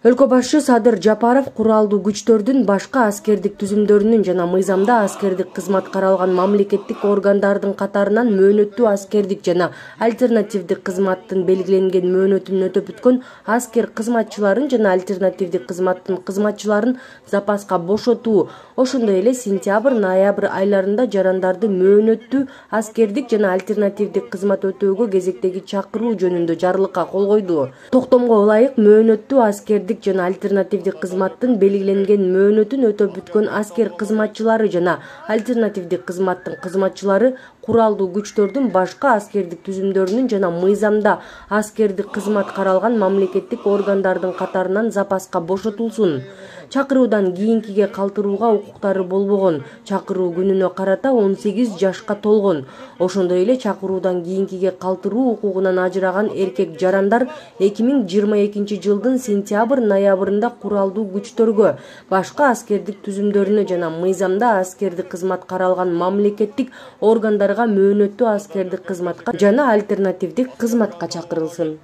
Өлкө башчы Садыр Жапаров куралдуу күчтөрдүн башка аскердик түзүмдөрүнүн жана мыйзамда аскердик кызмат каралган мамлекеттик органдардын катарынан мөөнөттүү аскердик жана альтернативдик кызматтын белгиленген мөөнөтүн өтөп бүткөн аскер кызматчыларын жана альтернативдик кызматтын кызматчыларын запаска бошотуу, ошондой эле сентябрь-ноябрь айларында жарандарды мөөнөттүү аскердик жана альтернативдик кызмат өтөөгө кезектеги чакыруу жөнүндө жарлыкка кол койду. Токтомго ылайык мөөнөттүү аскердик жана альтернативдик кызматтын белгиленген мөөнөтүн өтөп бүткөн аскер кызматчылары жана альтернативдик кызматтын кызматчылары куралдуу күчтөрдүн башка аскердик түзүмдөрүнүн жана мыйзамда аскердик кызмат каралган мамлекеттик органдардын катарынан запаска бошотулсун. Чакыруудан кийинкиге калтырууга укуктары болбогон, чакыруу күнүнө карата 18 жашка толгон. Ошондой эле чакыруудан кийинкиге калтыруу укугунан ажыраган эркек жарандар 2022 жылдын сентябрь-ноябрында куралдуу күчтөргө, башка аскердик түзүмдөрүнө жана мыйзамда аскердик кызмат каралган мамлекеттик органдарга мөөнөттүү аскердик кызматка жана альтернативдик кызматка чакырылсын.